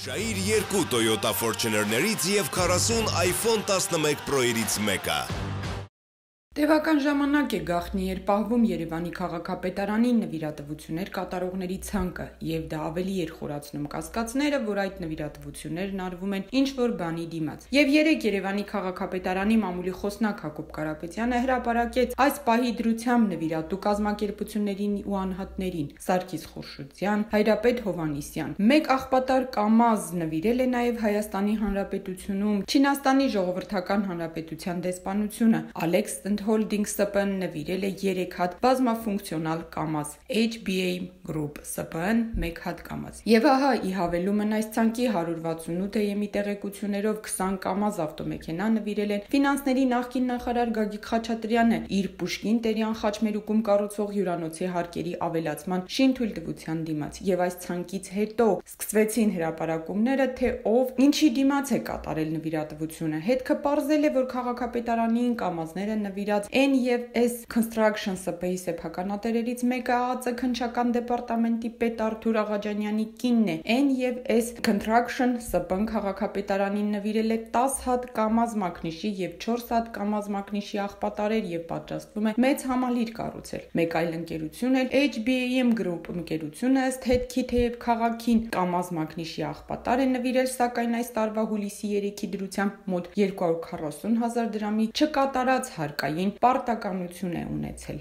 Շահիր 2 Toyota Fortuner-ներից և 40 iPhone 11 Pro-երից մեկը։ Տևական ժամանակ է գաղտնի էր պահվում Երևանի քաղաքապետարանին նվիրատվություններ կատարողների ցանկը, և դա ավելի էր խորացնում կասկածները, որ այդ նվիրատվություններն արվում են ինչ-որ բանի դիմաց։ Եվ երեկ Երևանի քաղաքապետարանի մամուլի խոսնակ Հակոբ Կարապետյանը հրապարակեց այս պահի դրությամբ նվիրատու կազմակերպություններին ու անհատներին՝ Սարգիս Խուրշուդյան, Հայրապետ Հովհաննիսյան։ Մեկ աղբատար Կամազ նվիրել է նաև Հայաստանի Հանրապետությունում Չինաստանի Ժողովրդական Հանրապետության դեսպանությունը, Alex Holding ՍՊԸ-ն նվիրել է 3 հատ բազմաֆունկցիոնալ Կամազ, HBA Group ՍՊԸ-ն 1 հատ Կամազ։ Եվ ահա ի հավելումն այս ցանկի 168-ը տեղեկություններով 20 Կամազ ավտոմեքենա նվիրել են ֆինանսների նախկին նախարար Գագիկ Խաչատրյանը իր Պուշկին Տերյան խաչմերուկում կառուցվող հյուրանոցի հարկերի ավելացման շինթույլտվության դիմաց։ Եվ այս ցանկից հետո սկսվեցին հրապարակումները, թե ով ինչի դիմաց է կատարել նվիրատվությունը։ Հետքը պարզել է, որ քաղաքապետարանին Կամազները նվիրած N&S Construction ՍՊԸ-ի սեփականատերերից մեկը ԱԱԾ քննչական դեպարտամենտի պետ Արթուր Աղաջանյանի կինն է։ N&S Construction ՍՊԸ-ն քաղաքապետարանին նվիրել է 10 հատ Կամազ մակնիշի և 4 հատ Կամազ մակնիշի աղբատարեր և պատրաստվում է մեծ համալիր կառուցել։ Մեկ այլ ընկերություն էլ HBAM Group ընկերությունը ըստ հետքի թեև քաղաքին Կամազ մակնիշի աղբատար է նվիրել, սակայն այս տարվա հուլիսի 3-ի դրությամբ մոտ 240 000 դրամի չկատարած հարկային պարտականություն է ունեցել։